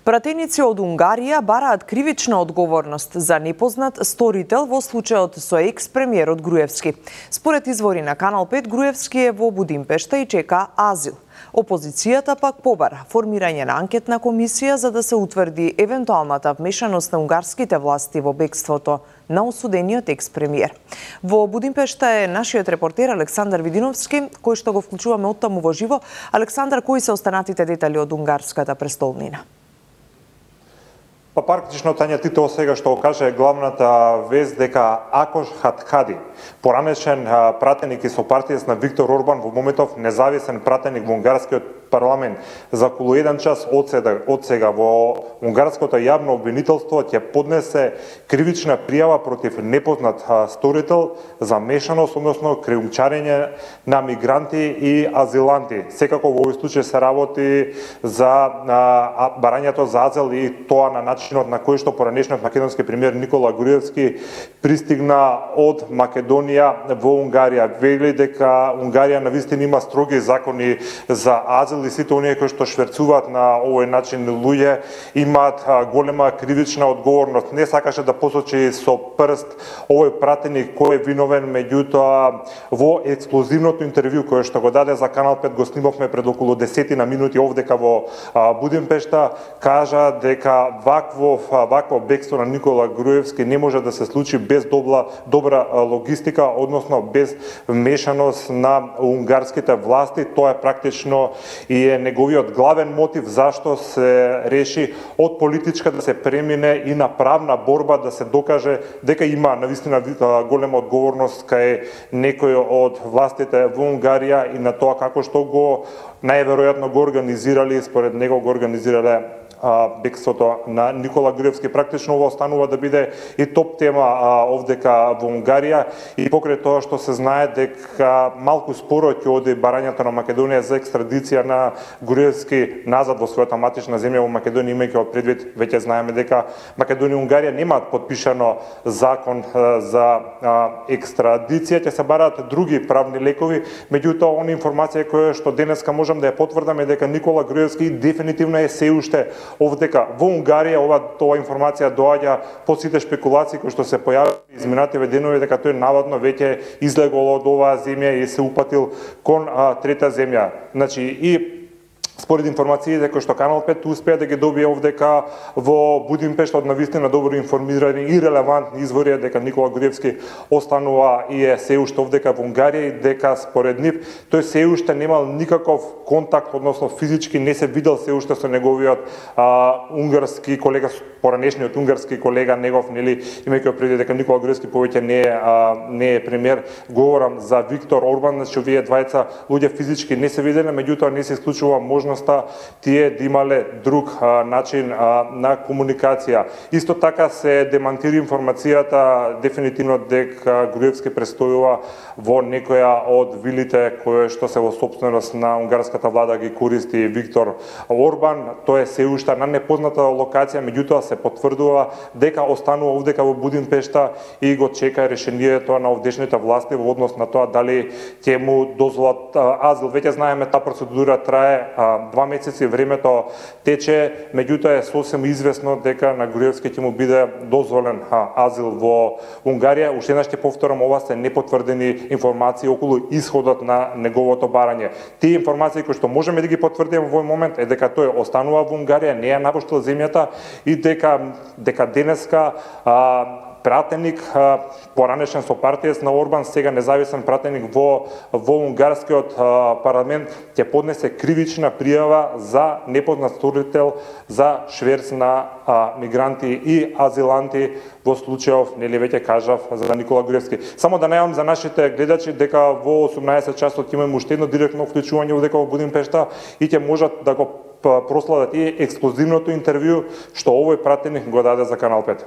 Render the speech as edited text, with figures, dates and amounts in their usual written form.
Пратеници од Унгарија бараат кривична одговорност за непознат сторител во случајот со екс-премиерот Груевски. Според извори на Канал 5, Груевски е во Будимпешта и чека азил. Опозицијата пак побара формирање на анкетна комисија за да се утврди евентуалната вмешаност на унгарските власти во бегството на осудениот екс-премиер. Во Будимпешта е нашиот репортер Александар Видиновски, кој што го вклучуваме оттаму во живо. Александар, кои се останатите детали од унгарската престолнина? Па практично Тања Титова сега што го каже главната вест дека Акош Хатхади, поранешен пратеник и сопартиец на Виктор Орбан, во моментов независен пратеник во унгарскиот парламент, за околу 1 час од сега во унгарското јавно обвинителство ќе поднесе кривична пријава против непознат сторител за мешаност, односно криумчарење на мигранти и азиланти. Секако во овој случај се работи за барањето за азил и тоа на начинот на кој што поранешниот македонски премиер Никола Груевски пристигна од Македонија во Унгарија. Вели дека Унгарија навистина има строги закони за азил и сите оние кои што шверцуваат на овој начин луѓе имаат голема кривична одговорност. Не сакаше да посочи со прст овој пратеник кој е виновен, меѓутоа во ексклузивното интервју кое што го даде за Канал 5, го снимавме пред околу 10 минути овдека во Будимпешта, кажа дека вакво бегство на Никола Груевски не може да се случи без добра логистика, односно без вмешаност на унгарските власти. Тоа е практично и е неговиот главен мотив зашто се реши од политичка да се премине и на правна борба, да се докаже дека има навистина голема одговорност кај некој од властите во Унгарија и на тоа како што го најверојатно го организирали, според него го организирале бегството на Никола Груевски. Практично ова останува да биде и топ тема овдека во Унгарија и покрај тоа што се знае дека малку споро ќе оди барањето на Македонија за екстрадиција на Груевски назад во својата матична земја во Македонија, имајќи од предвид веќе знаеме дека Македонија и Унгарија немаат подпишано закон за екстрадиција, ќе се бараат други правни лекови, меѓутоа оние информации кои што денеска можам да ја потврдам е дека Никола Груевски дефинитивно е се уште овдека во Унгарија. Ова информација доаѓа по сите спекулации кои што се појавија изминативе денови дека тој наводно веќе излегол од оваа земја и се упатил кон трета земја. Значи и според информациите кои што Канал 5 успеа да ги добие овдека во Будимпешта од навистина добро информирани и релевантни извори дека Никола Груевски останува и е се уште овдека во Унгарија и дека според нив тој се уште немал никаков контакт, односно физички не се видел се уште со неговиот унгарски колега, поранешниот унгарски колега негов, нели, имајќи предвид дека Никола Груевски повеќе не е премиер. Говорам за Виктор Орбан, значи овие двајца луѓе физички не се виделе, меѓутоа не се исклучува можноста тие да имале друг начин на комуникација. Исто така се демантира информацијата дефинитивно дека Груевски престојува во некоја од вилите кои што се во собственост на унгарската влада ги користи Виктор Орбан. Тоа е се уште на непозната локација, меѓутоа се потврдува дека останува овдека во Будимпешта и го чека решението на овдешните власти во однос на тоа дали ќе му дозволат азил. Веќе знаеме таа процедура трае 2 месеци, времето тече, меѓутоа е сосем известно дека на Груевски ќе му биде дозволен азил во Унгарија. Уште еднаш ќе повторам, ова се непотврдени информации околу исходот на неговото барање. Тие информации кои што можеме да ги потврдиме во овој момент е дека тој останува во Унгарија, не ја напуштил земјата и дека денеска пратеник, поранешен сопартиец на Орбан, сега независен пратеник во унгарскиот парламент, ќе поднесе кривична пријава за непознат сторител за шверц на мигранти и азиланти во случајов, нели веќе кажав, за Никола Груевски. Само да најавам за нашите гледачи дека во 18 часот имаме уште едно директно вклучување овдека во Будимпешта и ќе можат да го проследат и ексклузивното интервју што овој пратеник го даде за Канал 5.